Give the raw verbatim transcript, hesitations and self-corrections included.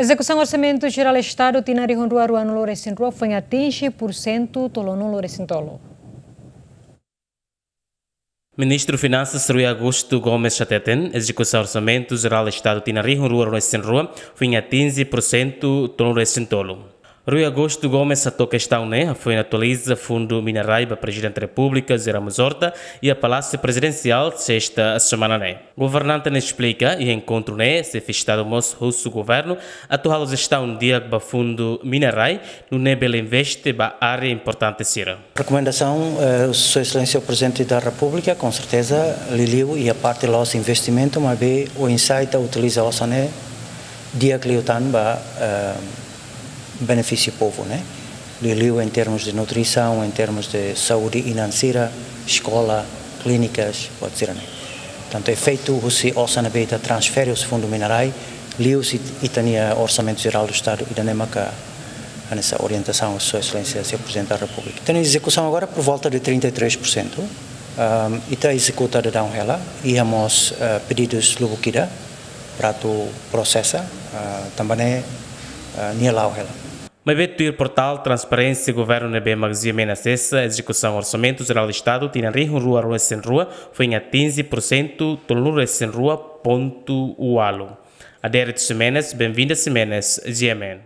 Ezekusaun Orsamentu Jerál Estadu tinan rihun rua ruanulu resin rua foin atinje pursentu tolunulu resin tolu. Ministru Finansas Rui Augusto Gomes hateten, ezekusaun Orsamentu Jerál Estadu tinan rihun rua ruanulu resin rua foin atinje pursentu tolunulu resin tolu. Rui Augusto Gomes hato'o kestaun ne'e hafoin atualiza Fundu Mina-Rai ba Prezidente Repúblika José Ramos Horta iha Palásiu Prezidensiál, sesta semana ne'e. Governante ne'e esplika, iha enkontru ne'e, Xefe Estadu mós husu governu atu halo jestaun di'ak ba Fundu Mina-Rai, nune'e bele investe ba área importante sira. Rekomendasaun, eh, Sua Exelénsia Prezidente da Repúblika, com certeza, liuliu iha parte loos investimentu, maibé oinsá ita utiliza osan ne'e di'ak liután ba, eh, benefísiu povu, ne'e? Liuliu em termos de nutrisaun, em termos de saúde inan sira, eskola, klínikas, buat sira-ne'e. Tantu efeitu husi osan ne'ebé ita transfere husi Fundu Mina-Rai, liuhusi ita-nia Orsamentu Jerál do Estadu, ida-ne'e maka hanesan orientasaun Sua Exelénsia, Señór Prezidente da Repúblika. Ita-nia ezekusaun agora por volta de trinta e três por cento. Ahm, ita ezekuta daudaun hela, iha mós, eh, pedidus lubuk ida, para atu prosesa, ah, tanba ne'e, ah, nia la'o hela. Maibé tuir portál transparénsia governu ne'ebé mak G M N asesa, ezekusaun Orsamentu Jerál Estadu tinan rihun rua ruanulu resin rua foin atinje pursentu tolunulu resin rua pontu ualu. Adérito Ximenes, Benvinda Ximenes, G M N.